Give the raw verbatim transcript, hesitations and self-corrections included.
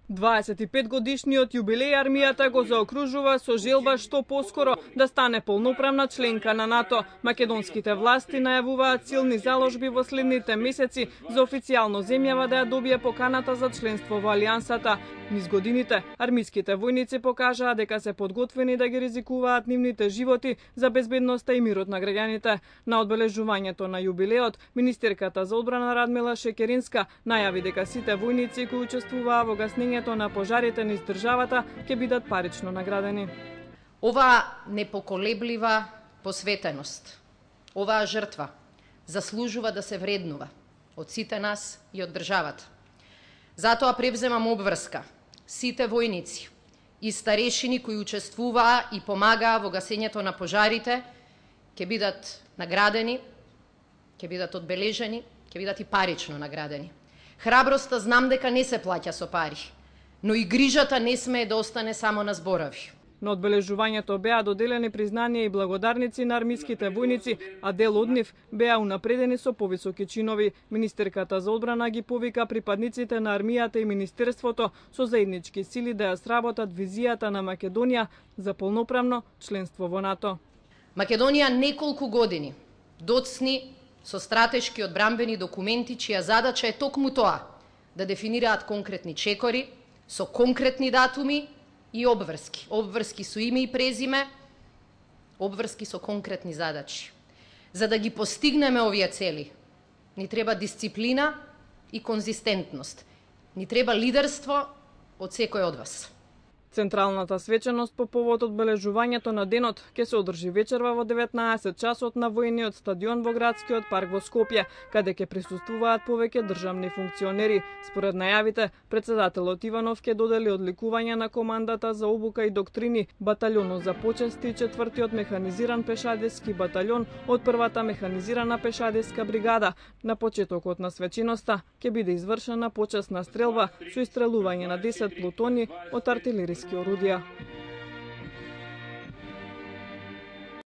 дваесет и пет годишниот јубилеј армијата го заокружува со желба што поскоро да стане полноправна членка на НАТО. Македонските власти најавуваат силни заложби во следните месеци за официјално земјава да ја добие поканата за членство во алијансата. Низ годините, армиските војници покажаа дека се подготвени да ги ризикуваат нивните животи за безбедноста и мирот на граѓаните. На одбележувањето на јубилеот, министерката за одбрана Радмила Шекеринска најави дека сите војници кои учествуваа во гаснењето на пожарите низ државата ќе бидат парично наградени. Оваа непоколеблива посветеност, оваа жртва заслужува да се вреднува од сите нас и од државата. Затоа превземам обврска сите војници и старешини кои учествуваа и помагаа во гасењето на пожарите ќе бидат наградени, ќе бидат одбележени, ќе бидат и парично наградени. Храброста знам дека не се плаќа со пари, но и грижата не смее да остане само на зборови. На одбележувањето беа доделени признанија и благодарници на армиските војници, а дел од нив беа унапредени со повисоки чинови. Министерката за одбрана ги повика припадниците на армијата и министерството со заеднички сили да ја сработат визијата на Македонија за полноправно членство во НАТО. Македонија неколку години доцни со стратешки одбранбени документи чија задача е токму тоа да дефинираат конкретни чекори со конкретни датуми и обврски. Обврски со име и презиме, обврски со конкретни задачи. За да ги постигнеме овие цели, ни треба дисциплина и конзистентност. Ни треба лидерство од секој од вас. Централната свеченост по повод одбележувањето на денот ќе се одржи вечерва во деветнаесет часот на војниот стадион во градскиот парк во Скопје, каде ќе присуствуваат повеќе државни функционери. Според најавите, председателот Иванов ќе додели одликување на командата за обука и доктрини, баталјонот за почести и четвртиот механизиран пешадиски баталјон од првата механизирана пешадиска бригада. На почетокот на свеченоста ќе биде извршена почесна стрелба со истрелување на десет плутони од артилериски орудија.